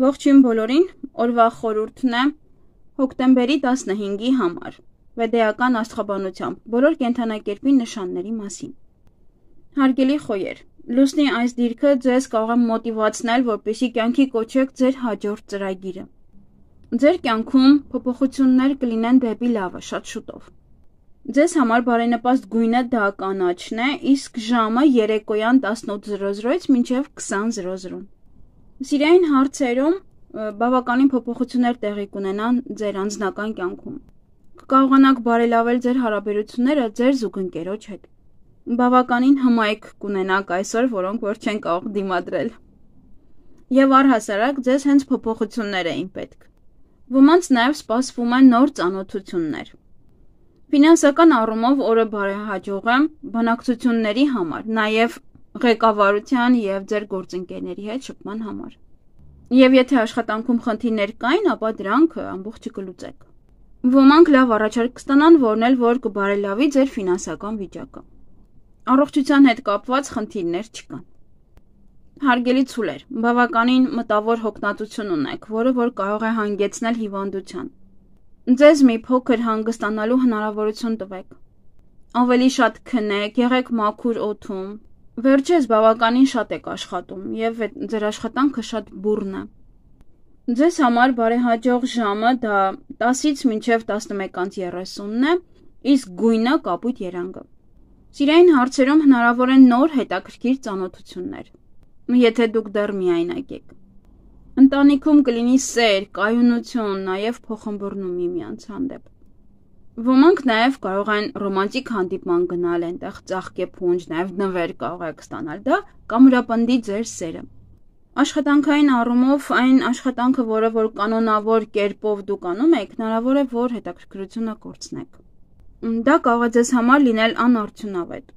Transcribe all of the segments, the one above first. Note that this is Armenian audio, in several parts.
Ողջույն բոլորին, օրվա խորհուրդն է հոկտեմբերի 15-ի համար, վեդեական աստղաբանությամբ, բոլոր կենդանակերպի նշանների մասին։ Հարգելի խոյեր, լուսնի այս դիրքը ձեզ կարող է մոտիվացնել, որպեսզի կյանքի կոչեք ձեր հաջորդ ծրագիրը։ Ձեր կյանքում փոփոխություններ կլինեն դեպի լավը շատ շուտով։ Ձեզ համար բարենպաստ գույնը դա կանաչն է, իսկ ժամը երեկոյան 18:00-ից մինչև 20:00։ Սիրային հարցերում բավականին փոփոխություններ տեղի կունենան ձեր անձնական կյանքում։ Կկարողանաք բարելավել ձեր հարաբերությունները ձեր զուգընկերոջ հետ։ Բավականին հմայք կունենաք այսօր, որոնք որ չեն կարող դիմադրել։ Եվ առհասարակ ձեզ հենց փոփոխություններ էին պետք։ Ոմանց նաև սպասվում են նոր ծանոթություններ։ Ֆինանսական առումով օրը բարեհաջող է բանակցությունների համար, նաև ղեկավարության եւ ձեր գործընկերների հետ շփման համար։ Եվ եթե աշխատանքում խնդիրներ կային, ապա դրանք ամբողջը կլուծեք։ Ոմանք լավ առաջարկ կստանան, որն էլ որ կբարելավի ձեր ֆինանսական վիճակը։ Առողջության հետ կապված խնդիրներ չկան։ Հարգելի ցուլեր, բավականին մտավոր հոգնածություն ունեք, որը որ կարող է հանգեցնել հիվանդության։ Ձեզ մի փոքր հանգստանալու հնարավորություն տվեք։ Ավելի շատ քնեք, եղեք մաքուր օդում։ Վերջերս բավականին շատ եք աշխատում եւ ձեր աշխատանքը շատ բուռն է։ Ձեզ համար բարեհաջող ժամը դա 10-ից մինչև 11:30-ն է, իսկ գույնը կապույտ երանգը։ Սիրային հարցերում հնարավոր են նոր հետաքրքիր ծանոթություններ, եթե դուք դեռ միայնակ եք։ Ընտանիքում կլինի սեր, կայունություն, նաև փոխըմբռնում միմյանց հանդեպ։ Ոմանք նաև կարող են ռոմանտիկ հանդիպման գնալ, այնտեղ ծաղկեփունջ, նաև նվեր կարող եք ստանալ, դա կամրապնդի ձեր սերը։ Աշխատանքային առումով այն աշխատանքը, որը որ կանոնավոր կերպով դուք անում եք, հնարավոր է, որ հետաքրքրությունը կորցնեք։ Դա կարող է ձեզ համար լինել անարդյունավետ։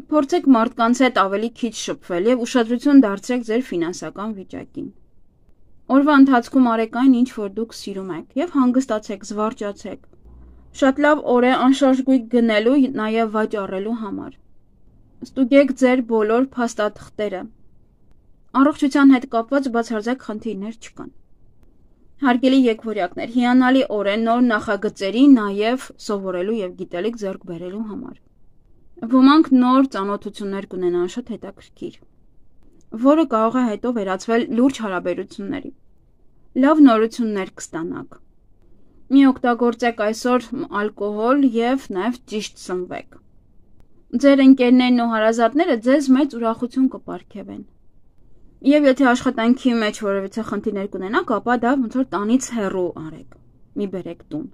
Փորձեք մարդկանց հետ ավելի քիչ շփվել եւ ուշադրություն դարձրեք ձեր ֆինանսական վիճակին։ Օրվա ընթացքում արեք այն, ինչ որ դուք սիրում եք եւ հանգստացեք, զվարճացեք։ Շատ լավ օր է անշարժ գույք գնելու, նաեւ վաճառելու համար։ Ստուգեք ձեր բոլոր փաստաթղթերը։ Առողջության հետ կապված բացարձակ խնդիրներ չկան։ Հարգելի եկվորյակներ, հիանալի օր է նոր նախագծերի, նաեւ սովորելու եւ գիտելիք ձեռք բերելու համար։ Ոմանք նոր ծանոթություններ կունենան շատ հետաքրքիր, որը կարող է հետո վերածվել լուրջ հարաբերությունների։ Լավ նորություններ կստանաք։ Մի օգտագործեք այսօր ալկոհոլ եւ նաեւ ճիշտ սնվեք։ Ձեր ընկերներն ու հարազատները ձեզ մեծ ուրախություն կպարգևեն։ Եվ եթե աշխատանքի մեջ որևիցե խնդիրներ կունենաք, ապա դա ոնց որ տանից հեռու արեք։ Մի բերեք տուն։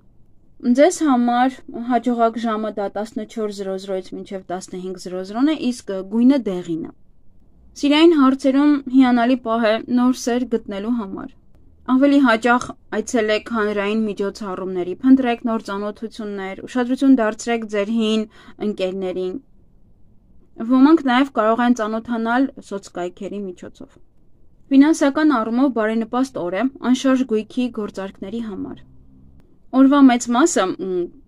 Ձեզ համար հաջողակ ժամը դա 14:00-ից մինչև 15:00 է, իսկ գույնը դեղինը։ Սիրային հարցերում հիանալի պահ է նոր սեր գտնելու համար։ Ավելի հաճախ այցելեք հանրային միջոցառումների, փնտրեք նոր ծանոթություններ, ուշադրություն դարձրեք ձեր հին ընկերներին։ Ոմանք նաև կարող են ծանոթանալ սոցկայքերի միջոցով։ Ֆինանսական առումով բարենպաստ օր է անշարժ գույքի գործարքների համար։ Օրվա մեծ մասը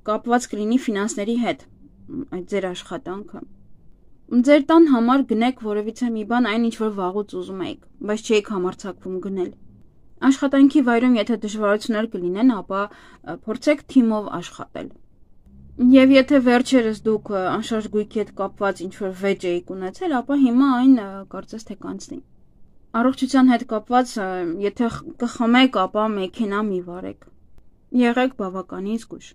կապված կլինի ֆինանսների հետ, այդ ձեր աշխատանքը։ Ձեր տան համար գնեք որևիցե մի բան, այն ինչ որ վաղուց ուզում եք, բայց չէիք համարձակվում գնել։ Աշխատանքի վայրում եթե դժվարություններ կլինեն, ապա փորձեք թիմով աշխատել։ Եվ եթե վերջերս դուք անշարժ գույքի հետ կապված ինչ-որ վեճ եք ունեցել, ապա հիմա այն կարծես թե կանցնի։ Առողջության հետ կապված, եթե կխմեք, ապա մեքենա մի վարեք։ Եղեք բավականին զգույշ։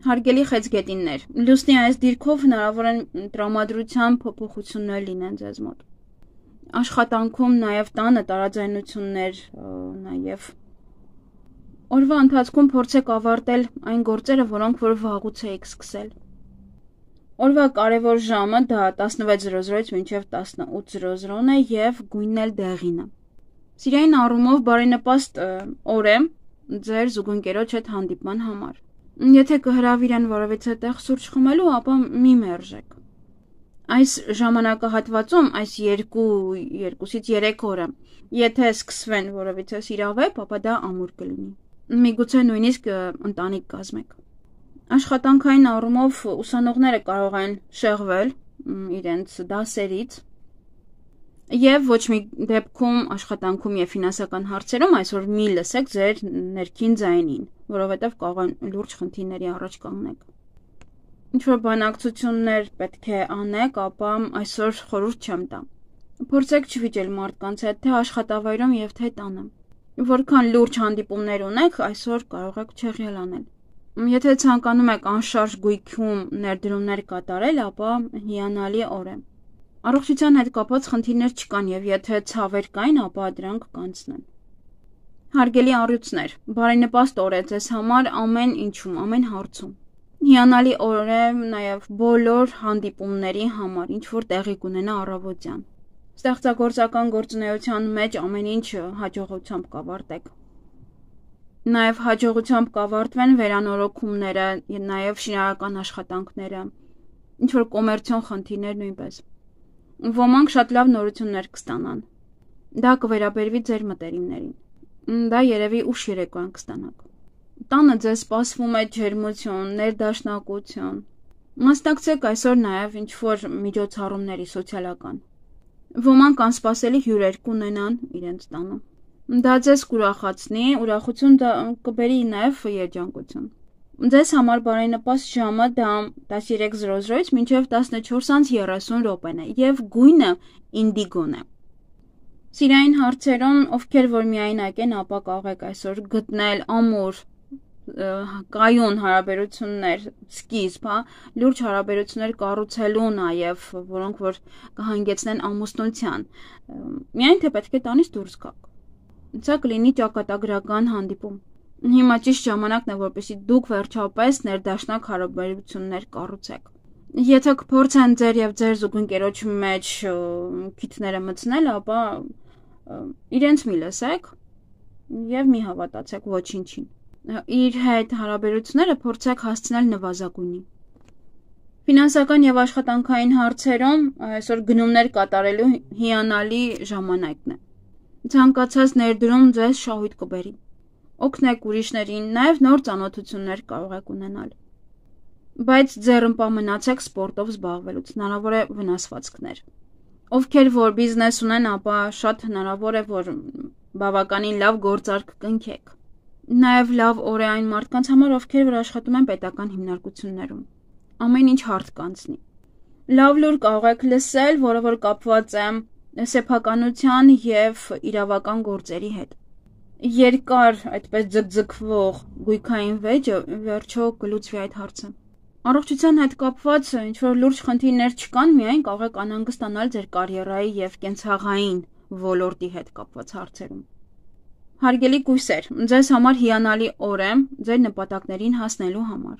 Հարգելի խեցգետիններ, լուսնի այս դիրքով հնարավոր են տրամադրության փոփոխություններ լինեն ձեզ մոտ։ Աշխատանքում նաև տանը տարաձայնություններ, նաև օրվա ընթացքում փորձեք ավարտել այն գործերը, որոնք որ վաղուց եք սկսել։ Օրվա կարևոր ժամը դա 16:00-ից մինչև 18:00 է եւ գույնն էլ դեղինը։ Սիրային առումով բարենպաստ օր է ձեր զուգընկերոջ հետ հանդիպման համար։ Եթե կհրավիրեն որևիցե տեղ սուրճ խմելու, ապա մի մերժեք։ Այս ժամանակահատվածում, այս 2-ից 3 օրը, եթե սկսվեն որևիցե սիրավեպ, ապա դա ամուր կլինի։ Միգուցե նույնիսկ ընտանիք կազմեք։ Աշխատանքային առումով ուսանողները կարող են շեղվել իրենց դասերից Եվ ոչ մի դեպքում աշխատանքում եւ ֆինանսական հարցերում այսօր մի լսեք ձեր ներքին ձայնին, որովհետեւ կարող են լուրջ խնդիրների առաջ կանգնեք։ Ինչ որ բանակցություններ պետք է անեք, ապա այսօր խորհուրդ չեմ տա։ Փորձեք չվիճել մարդկանց հետ, թե աշխատավայրում եւ թե տանը։ Որքան լուրջ հանդիպումներ ունեք, այսօր կարող եք չեղյալ անել։ Եթե ցանկանում եք անշարժ գույքում ներդրումներ կատարել, ապա հիանալի օր է։ Առողջության հետ կապված խնդիրներ չկան եւ եթե ցավեր կային, ապա դրանք կանցնեն։ Հարգելի առյուծներ, բարենպաստ օր է ձեզ համար ամեն ինչում, ամեն հարցում։ Հիանալի օր է նաեւ բոլոր հանդիպումների համար, ինչ որ տեղի կունենա առավոտյան։ Ստեղծագործական գործունեության մեջ ամեն ինչ հաջողությամբ կավարտեք։ Նաեւ հաջողությամբ կավարտվեն վերանորոգումները, նաեւ շինարարական աշխատանքները, ինչ որ կոմերցիոն խնդիրներ նույնպես։ Ոմանք շատ լավ նորություններ կստանան։ Դա կվերաբերվի ձեր մտերիմներին։ Դա երևի ուշ երեկոյան կստանաք։ Տանը ձեզ սպասվում է ջերմություն, ներդաշնակություն։ Մասնակցեք այսօր նաև ինչ-որ միջոցառումների սոցիալական։ Ոմանք անսպասելի հյուրեր կունենան իրենց տանը։ Դա ձեզ կուրախացնի, ուրախություն կբերի նաև երջանկություն։ Ձեզ համար բարենպաստ ժամը դա 13:00-ից մինչև 14:30 րոպեն է եւ գույնը ինդիգոն է։ Սիրային հարցերում, ովքեր որ միայնակ են, ապա կարող եք այսօր գտնել ամուր, կայուն հարաբերություններ, սկիզբ, լուրջ հարաբերություններ կառուցելու նաեւ, որոնք որ կհանգեցնեն ամուսնության։ Միայն թե պետք է տանից դուրս գաք։ Սա կլինի ճակատագրական հանդիպում։ Հիմա ճիշտ ժամանակն է, որպեսզի դուք վերջապես ներդաշնակ հարաբերություններ կառուցեք։ Եթե կփորձեն ձեր եւ ձեր զուգընկերոջ մեջ քիթները մտցնել, ապա իրենց մի լսեք եւ մի հավատացեք ոչինչին։ Իր հետ հարաբերությունները փորձեք հասցնել նվազագույնի։ Ֆինանսական եւ աշխատանքային հարցերում այսօր գնումներ կատարելու հիանալի ժամանակն է։ Ցանկացած ներդրում ձեզ շահույթ կբերի։ Օգնեք ուրիշներին, նաև նոր ծանոթություններ կարող եք ունենալ։ Բայց ձեռնպա մնացեք սպորտով զբաղվելուց, հնարավոր է վնասվածքներ։ Ովքեր որ բիզնես ունեն, ապա շատ հնարավոր է, որ բավականին լավ գործարք կնքեք։ Նաև լավ օր է այն մարդկանց համար, ովքեր որ աշխատում են պետական հիմնարկություններում։ Ամեն ինչ հարթ կանցնի։ Լավ լուր կարող եք լսել, որը որ կապված է սեփականության եւ իրավական գործերի հետ։ Երկար այդպես ձգձգվող գույքային վեճը վերջո կլուծվի այդ հարցը։ Առողջության հետ կապված ինչ որ լուրջ խնդիրներ չկան, միայն կարող եք անհանգստանալ ձեր կարիերայի եւ կենցաղային ոլորտի հետ կապված հարցերում։ Հարգելի կույսեր, ձեզ համար հիանալի օր է ձեր նպատակներին հասնելու համար։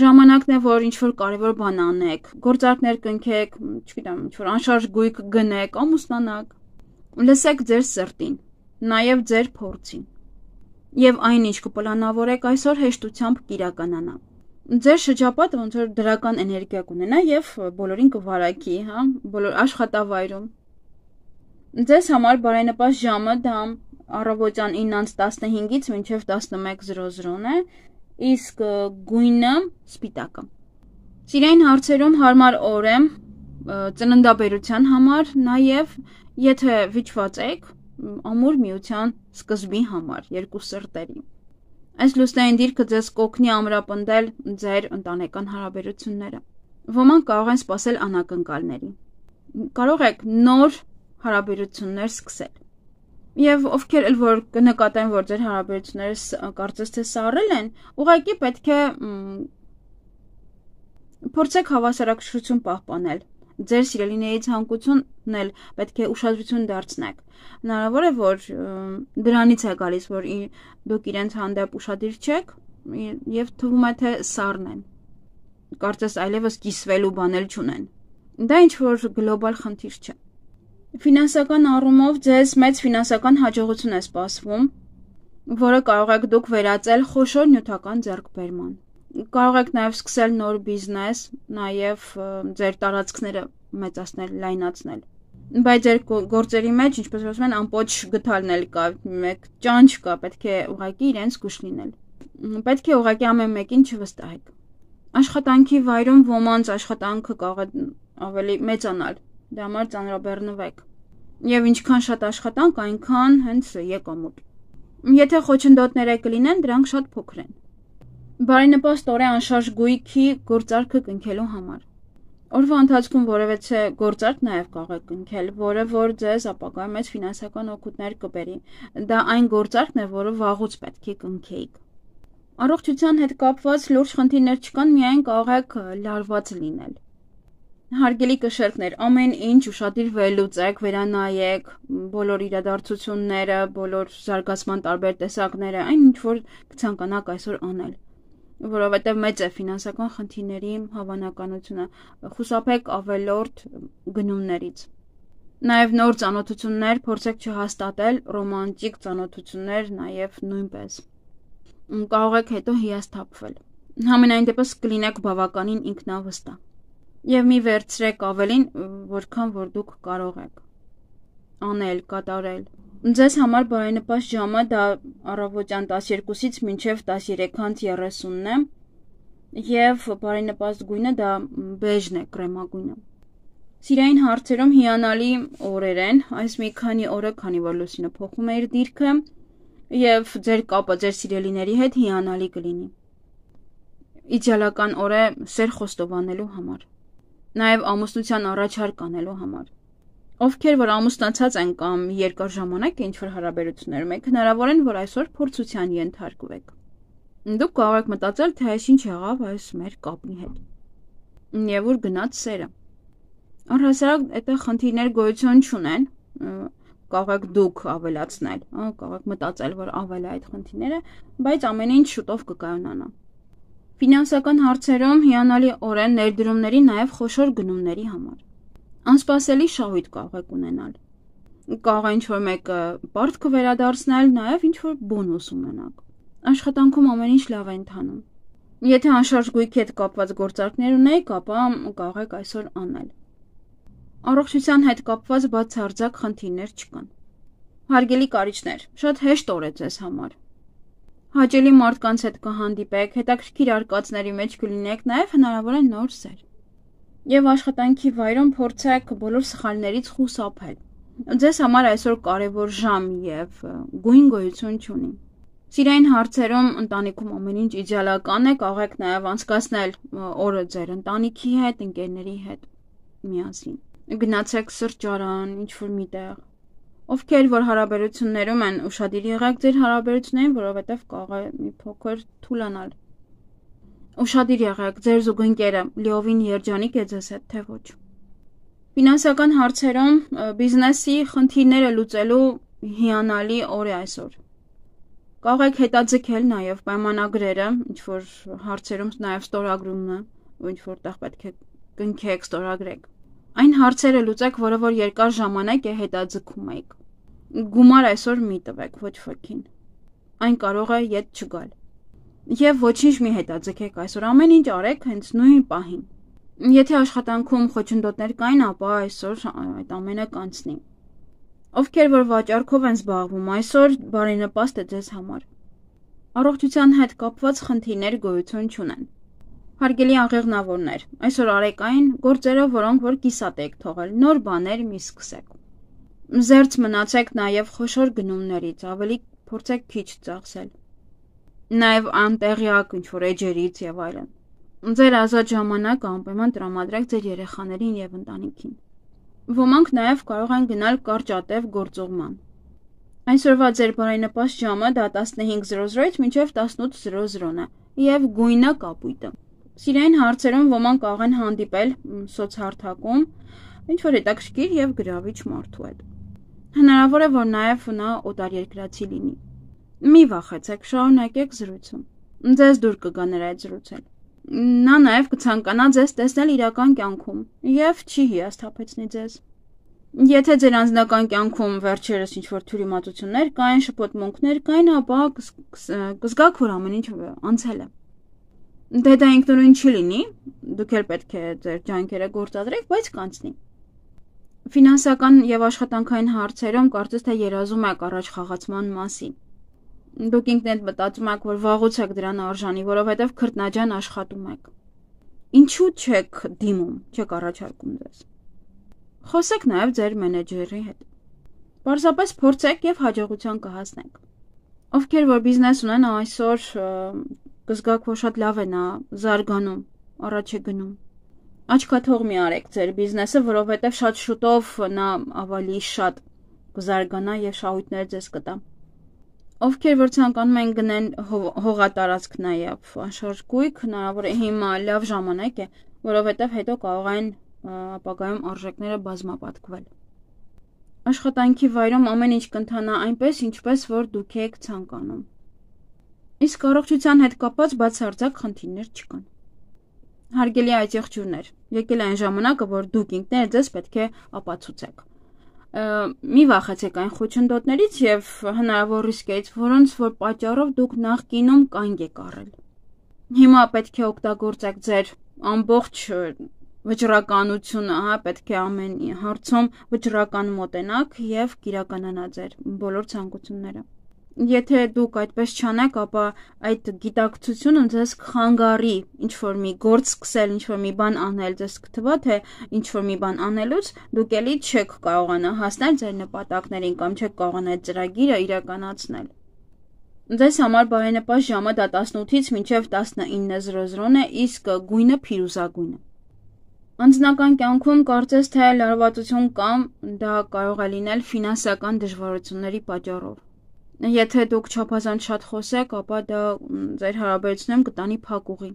Ժամանակն է, որ ինչ որ կարևոր բան անեք, գործարքներ կնքեք, չգիտեմ, ինչ որ անշարժ գույք գնեք, ամուսնանաք։ Լսեք ձեր սրտին, նաև ձեր փորձին։ Եվ այնինչ կպլանավորեք այսօր հեշտությամբ կիրականանա։ Ձեր շրջապատը ոնց որ դրական էներգիա կունենա եւ բոլորին կվարակի, բոլոր աշխատավայրում։ Ձեզ համար բարենպաստ ժամը դա առավոտյան 9:15-ից մինչև 11:00 է, իսկ գույնը սպիտակը։ Սիրային հարցերում հարմար օր է ծննդաբերության համար, նաև եթե վիճված եք ամուր միության սկզբի համար, երկու սրտերի։ Այս լուսնային դիրքը ձեզ կօգնի ամրապնդել ձեր ընտանեկան հարաբերությունները։ Ոմանք կարող են սպասել անակնկալների։ Կարող եք նոր հարաբերություններ սկսել։ Եվ ովքեր էլ որ կնկատեն, որ ձեր հարաբերությունները կարծես թե սառել են, ուղղակի պետք է փորձեք հավասարակշռություն պահպանել։ Ձեր սիրելիների ցանկությունն էլ պետք է ուշադրություն դարձնեք։ Հնարավոր է, որ դրանից է գալիս, որ դուք իրենց հանդեպ ուշադիր չեք եւ թվում է թե սառն են։ Կարծես այլևս կիսվելու բանել չունեն։ Դա ինչ որ գլոբալ խնդիր չէ։ Ֆինանսական առումով ձեզ մեծ ֆինանսական հաջողություն է սպասվում, որը կարող եք դուք վերածել խոշոր նյութական ձեռքբերման։ Կարող եք նաև սկսել նոր բիզնես, նաև ձեր տարածքները մեծացնել, լայնացնել։ Բայց ձեր գործերի մեջ, ինչպես ասում են, ամպոչ գթալն էլ կա, մեկ ճանճ կա, պետք է ուղղակի իրենց զգուշ լինել։ Պետք է ուղղակի ամեն մեկին չվստահեք։ Աշխատանքի վայրում ոմանց աշխատանքը կարող է ավելի մեծանալ, դրա համար ծանրաբեռնվեք։ Եվ ինչքան շատ աշխատանք, այնքան հենց եկամուտ։ Եթե խոչընդոտները կլինեն, դրանք շատ փոքր են։ Բարենպաստ օր է անշարժ գույքի գործարքը կնքելու համար։ Օրվա ընթացքում որևէ գործարք նաև կարող եք կնքել, որը որ ձեզ ապագայում մեծ ֆինանսական օգուտներ կբերի։ Դա այն գործարքն է, որը վաղուց պետք է կնքեիք։ Առողջության հետ կապված լուրջ խնդիրներ չկան, միայն կարող եք լարված լինել։ Հարգելի կշերտներ, ամեն ինչ ուշադիր վերլուծեք, վերանայեք, բոլոր իրադարձությունները, բոլոր զարգացման տարբեր տեսակները, այն ինչ որ կցանկանաք այսօր անել, որովհետև մեծ է ֆինանսական խնդիրների հավանականությունը, խուսափեք ավելորդ գնումներից։ Նաև նոր ծանոթություններ փորձեք չհաստատել, ռոմանտիկ ծանոթություններ նաև նույնպես։ Կարող եք հետո հիասթափվել։ Համենայն դեպս կլինեք բավականին ինքնավստահ։ Եվ մի վերցրեք ավելին, որքան որ դուք կարող եք անել, կատարել։ Ձեզ համար բարենպաստ ժամը դա առավոտյան 12-ից մինչև 13:30-ն է, եւ բարենպաստ գույնը դա բեժն է, կրեմագույնը։ Սիրային հարցերում հիանալի օրեր են, այս մի քանի օրը, քանի որ լուսինը փոխում է իր դիրքը, եւ ձեր կապը ձեր սիրելիների հետ հիանալի կլինի։ Իդեալական օր է սեր խոստովանելու համար։ Նաև ամուսնության առաջարկ անելու համար։ Ովքեր որ ամուսնացած են կամ երկար ժամանակ է ինչ-որ հարաբերություններում եք, հնարավոր են, որ այսօր փորձության ենթարկվեք։ Դուք կարող եք մտածել, թե այսինչ եղավ այս մեր կապի հետ։ Եվ ուր գնաց սերը։ Առհասարակ այդտեղ խնդիրներ գոյություն չունեն, կարող եք դուք ավելացնել, կարող եք մտածել, որ ավել է այդ խնդիրները, բայց ամեն ինչ շուտով կկայանանա։ Ֆինանսական հարցերում հիանալի օր է ներդրումների, նաև խոշոր գնումների համար։ Անսպասելի շահույթ կարող եք ունենալ։ Կարող է ինչ-որ մեկը պարտքը վերադարձնել, նաև ինչ-որ բոնուս ունենաք։ Աշխատանքում ամեն ինչ լավ է ընթանում։ Եթե անշարժ գույքի հետ կապված գործարքներ ունեք, ապա կարող եք այսօր անել։ Առողջության հետ կապված բացարձակ խնդիրներ չկան։ Հարգելի կարիճներ, շատ հեշտ օր է ձեզ համար։ Հաճելի մարդկանց հետ կհանդիպեք, հետաքրքիր արկածների մեջ կլինեք, նաև հնարավոր է նոր սեր։ Եվ աշխատանքի վայրում փորձեք բոլոր սխալներից խուսափել։ Ձեզ համար այսօր կարևոր ժամ եւ գույն գոյություն չունի։ Սիրային հարցերում ընտանիքում ամեն ինչ իդեալական է, կարող եք նաև անցկացնել օրը ձեր ընտանիքի հետ, ընկերների հետ միասին։ Գնացեք սրճարան, ինչ-որ միտեղ։ Ովքեր որ հարաբերություններում են, ուշադիր եղեք ձեր հարաբերություններին, որովհետև կարող է մի փոքր թուլանալ։ Ուշադիր եղեք, ձեր զուգընկերը լիովին երջանիկ է ձեզ հետ, թե ոչ։ Ֆինանսական հարցերում բիզնեսի խնդիրները լուծելու հիանալի օր է այսօր։ Կարող եք հետաձգել նաև պայմանագրերը, ինչ որ հարցերում նաև ստորագրումն է, ինչ որտեղ պետք է կնքեք, ստորագրեք։ Այն հարցերը լուծեք, որը որ երկար ժամանակ է հետաձգում եք։ Գումար այսօր մի տվեք, ոչ ոքին։ Այն կարող է ետ չգալ։ Եվ ոչինչ մի հետաձգեք այսօր, ամեն ինչ արեք հենց նույն պահին։ Եթե աշխատանքում խոչընդոտներ կային, ապա այսօր այդ ամենը կանցնի։ Ովքեր որ վաճառքով են զբաղվում, այսօր բարենպաստ է ձեզ համար։ Առողջության հետ կապված խնդիրներ գոյություն չունեն։ Հարգելի աղեղնավորներ, այսօր արեք այն գործերը, որոնք որ կիսատ եք թողել, նոր բաներ մի սկսեք։ Զերծ մնացեք նաև խոշոր գնումներից, ավելի փորձեք քիչ ծախսել։ Նաև անտեղյակ ինչ-որ էջերից եւ այլն։ Ձեր ազատ ժամանակը անպայման տրամադրեք ձեր երեխաներին եւ ընտանիքին։ Ոմանք նաև կարող են գնալ կարճատև գործողման։ Այսօրվա ձեր բարենպաստ ժամը դա 15:00-ից մինչև 18:00-ն է եւ գույնը կապույտը։ Սիրային հարցերում ոմանք կարող են հանդիպել սոցհարթակում, ինչ որ հետաքրքիր եւ գրավիչ մարդու հետ։ Հնարավոր է, որ նաև նա օտարերկրացի լինի։ Մի վախեցեք, շարունակեք զրույցը։ Ձեզ դուր կգա նրա հետ զրուցել։ Նա նաև կցանկանա ձեզ տեսնել իրական կյանքում եւ չի հիասթափեցնի ձեզ։ Եթե ձեր անձնական կյանքում վերջերս ինչ-որ թյուրիմացություններ կային, շփոթմունքներ կային, ապա կզգաք, որ ամեն ինչ անցել է։ Դե դա ինքնուրույն չի լինի, դուք էլ պետք է ձեր ջանքերը գործադրեք, բայց կանցնի։ Ֆինանսական եւ աշխատանքային հարցերում կարծես թե երազում եք առաջ խաղացման մասին։ Դուք ինքներդ մտածում եք, որ վաղուց եք դրան արժանի, որովհետև քրտնաջան աշխատում եք։ Ինչու չեք դիմում, չեք առաջարկում ձեզ։ Խոսեք նաև ձեր մենեջերի հետ։ Պարզապես փորձեք եւ հաջողության կհասնեք։ Ովքեր որ բիզնես ունեն, այսօր կզգաք, որ շատ լավ է նա զարգանում, առաջ է գնում։ Աչքաթող մի արեք ձեր բիզնեսը, որովհետեւ շատ շուտով նա ավելի շատ կզարգանա եւ շահույթներ ձեզ կտա։ Ովքեր որ ցանկանում են գնեն հողատարածք նաեւ անշարժ գույք, հնարավոր է հիմա լավ ժամանակ է, որովհետեւ հետո կարող են ապագայում արժեքները բազմապատկվել։ Աշխատանքի վայրում ամեն ինչ կընթանա այնպես, ինչպես որ դուք եք ցանկանում։ Իսկ առողջության հետ կապված բացարձակ խնդիրներ չկան։ Հարգելի այցեղջյուրներ, եկել է այն ժամանակը, որ դուք ինքներդ ձեզ պետք է ապացուցեք։ Մի վախեցեք այն խոչընդոտներից եւ հնարավոր ռիսկերից, որոնց որ պատճառով դուք նախկինում կանգ եք առել։ Հիմա պետք է օգտագործեք ձեր ամբողջ վճռականությունը, պետք է ամեն հարցում վճռական մոտենաք եւ կիրականանա ձեր բոլոր ցանկությունները։ Եթե դուք այդպես չանեք, ապա այդ գիտակցությունը ձեզ կխանգարի ինչ-որ մի գործ սկսել, ինչ-որ մի բան անել, ձեզ կթվա, թե ինչ-որ մի բան անելուց դուք էլի չեք կարողանա հասնել ձեր նպատակներին կամ չեք կարողանա այդ ծրագիրը իրականացնել։ Ձեզ համար բարենպաստ ժամը դա 18-ից մինչև 19:00 է, իսկ գույնը փիրուզագույն է։ Անձնական կյանքում կարծես թե լարվածություն կամ դա կարող է լինել ֆինանսական դժվարությունների պատճառով։ Եթե դուք չափազանց շատ խոսեք, ապա դա ձեր հարաբերությունում կտանի փակուղի։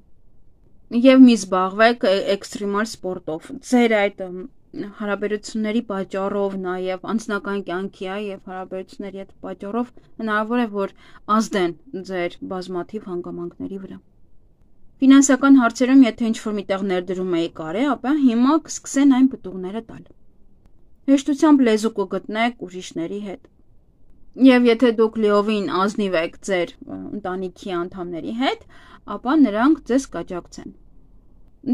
Եվ մի զբաղվեք էքստրեմալ սպորտով։ Ձեր այդ հարաբերությունների պատճառով նաև անձնական կյանքի եւ հարաբերությունների այդ պատճառով հնարավոր է որ ազդեն ձեր բազմաթիվ հանգամանքների վրա։ Ֆինանսական հարցերում եթե ինչ-որ միտեղ ներդրում եք արել, ապա հիմա կսկսեն այն պտուղները տալ։ Հեշտությամբ լեզու կգտնեք ուրիշների հետ։ Եվ եթե դուք լիովին ազնիվ եք ձեր ընտանիքի անդամների հետ, ապա նրանք ձեզ կաջակցեն։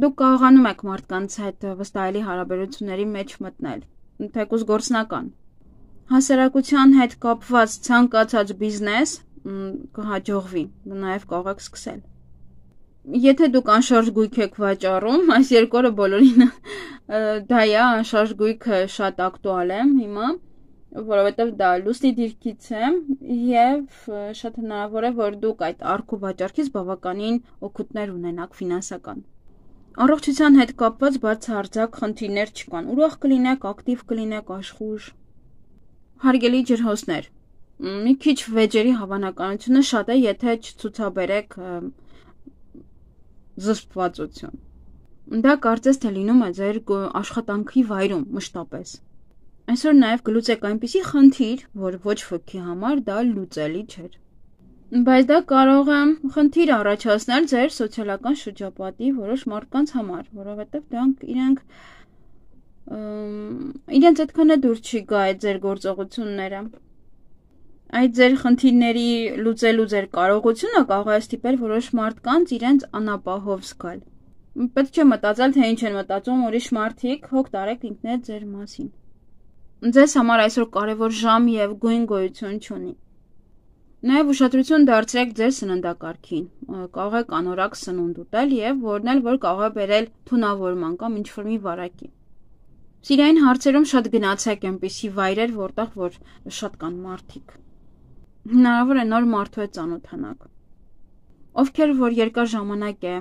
Դուք կարողանում եք մարդկանց հետ վստահելի հարաբերությունների մեջ մտնել, թեկուզ գործնական։ Հասարակության հետ կապված ցանկացած բիզնես կհաջողվի, նաև կարող եք սկսել։ Եթե դուք անշարժ գույք եք վաճառում, այս երկրորդ բոլորին դա է, անշարժ գույքը շատ ակտուալ է հիմա, որովհետև դա լուսնի դիրքից է եւ շատ հնարավոր է որ դուք այդ առքու վաճառքից բավականին օգուտներ ունենաք ֆինանսական։ Առողջության հետ կապված բացարձակ խնդիրներ չկան։ Ուրախ կլինեք, ակտիվ կլինեք, աշխույժ։ Հարգելի ջրհոսներ, մի քիչ վեճերի հավանականությունը շատ է, եթե չցուցաբերեք զսպվածություն։ Դա կարծես թե լինում է ձեր աշխատանքի վայրում մշտապես։ Այսօր նաև կլուծեք այնպիսի խնդիր, որ ոչ ոքի համար դա լուծելի չէր։ Բայց դա կարող է խնդիր առաջացնել ձեր սոցիալական շրջապատի որոշ մարդկանց համար, որովհետև դրանք իրենց այդքան է դուր չի գա այդ ձեր գործողությունները։ Այդ ձեր խնդիրների լուծելու ձեր կարողությունը կարող է ստիպել որոշ մարդկանց իրենց անապահով զգալ։ Պետք չէ մտածել, թե ինչ են մտածում ուրիշ մարդիկ, հոգ տարեք ինքներդ ձեր մասին։ Ձեզ համար այսօր կարևոր ժամ եւ գույն գոյություն չունի։ Նաեւ ուշադրություն դարձրեք ձեր սննդակարգին։ Կարող եք անորակ սնունդ ուտել եւ որն էլ որ կարող է բերել թունավորման կամ ինչ-որ մի վարակի։ Սիրային հարցերում շատ գնացեք այնպիսի վայրեր, որտեղ որ շատ կան մարդիկ։ Հնարավոր է նոր մարդու հետ ծանոթանաք։ Ովքեր որ երկար ժամանակ է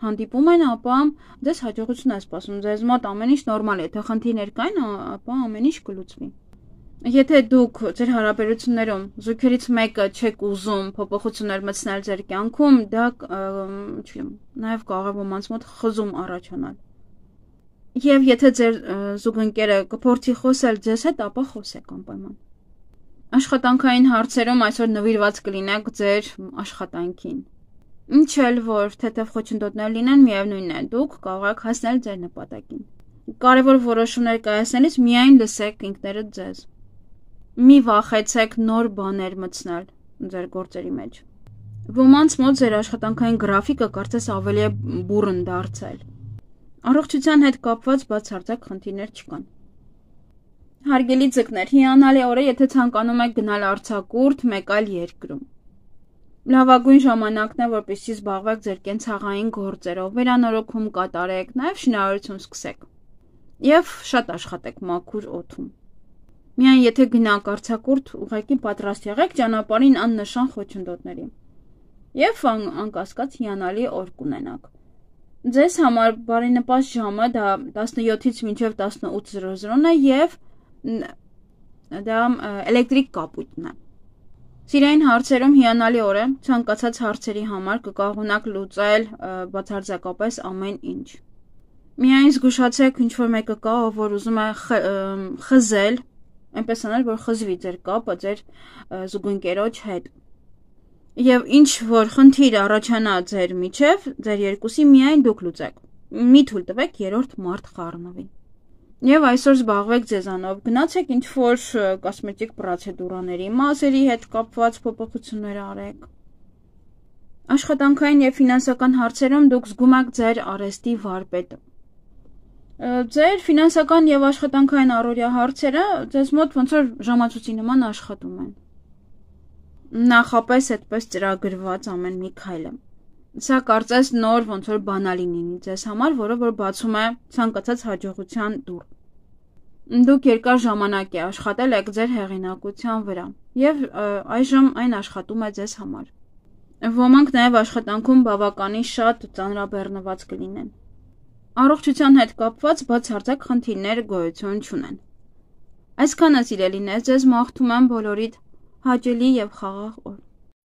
հանդիպում են, ապա ձեզ հաջողություն է սպասում, ձեզ մոտ ամեն ինչ նորմալ է, թե խնդիրներ կային, ապա ամեն ինչ կլուծվի։ Եթե դուք ձեր հարաբերություններում զույգերից մեկը չեք ուզում փոփոխություններ մտցնել ձեր կյանքում, դա նաև կարող է ոմանց մոտ խզում առաջանալ։ Եվ եթե ձեր զուգընկերը կփորձի խոսել ձեզ հետ, ապա խոսեք անպայման։ Աշխատանքային հարցերում այսօր նվիրված կլինեք ձեր աշխատանքին։ Ինչ էլ որ թեթև խոչընդոտներ լինեն, միևնույն է, դուք կարող եք հասնել ձեր նպատակին։ Կարևոր որոշումներ կայացնելիս միայն լսեք ինքներդ ձեզ։ Մի վախեցեք նոր բաներ մտցնել ձեր գործերի մեջ։ Ոմանց մոտ ձեր աշխատանքային գրաֆիկը կարծես ավելի է բուռն դարձել։ Առողջության հետ կապված բացարձակ խնդիրներ չկան։ Հարգելի ձկներ, հիանալի օր է, եթե ցանկանում եք գնալ արձակուրդ մեկ այլ երկրում։ Լավագույն ժամանակն է, որպեսզի զբաղվեք ձեր կենցաղային գործերով, վերանորոգում կատարեք, նաև շինարարություն սկսեք։ Եվ շատ աշխատեք մաքուր օդում։ Միայն եթե գնաք արձակուրդ, ուղղակի պատրաստ եղեք ճանապարհին աննշան խոչընդոտների։ Եվ անկասկած հիանալի օր կունենաք։ Ձեզ համար բարենպաստ ժամը դա 17-ից մինչև 18:00 է եւ դա էլեկտրիկ կապույտն է։ Սիրային հարցերում հիանալի օր է, ցանկացած հարցերի համար կկարողանաք լուծել բացարձակապես ամեն ինչ։ Միայն զգուշացեք, ինչ որ մեկը կա, ով որ ուզում է խզել, այնպես անել, որ խզվի ձեր կապը ձեր զուգընկերոջ հետ։ Եվ ինչ որ խնդիր առաջանա ձեր միջև, ձեր երկուսի միայն դուք լուծեք։ Մի թույլ տվեք երրորդ մարդ խառնվի։ Եվ այսօր զբաղվեք ձեզանով, գնացեք ինչ որ կոսմետիկ պրոցեդուրաների, մազերի հետ կապված փոփոխություններ արեք։ Աշխատանքային եւ ֆինանսական հարցերում դուք զգում եք ձեր արեստի վարպետը։ Ձեր ֆինանսական եւ աշխատանքային առօրյա հարցերը ձեզ մոտ ոնց որ ժամացույցի նման աշխատում են։ Նախապես այդպես ծրագրված ամեն մի քայլը։ Սա կարծես նոր ոնց որ բանալի լինի ձեզ համար, որը որ բացում է ցանկացած հաջողության դուռ։ Դուք երկար ժամանակ է աշխատել եք ձեր հեղինակության վրա եւ այժմ այն աշխատում է ձեզ համար։ Ոմանք նաեւ աշխատանքում բավականին շատ ծանրաբեռնված կլինեն։ Առողջության հետ կապված բացարձակ խնդիրներ գոյություն չունեն։ Այսքանը սիրելիներ, ձեզ մաղթում եմ բոլորիդ հաճելի եւ խաղաղ օր։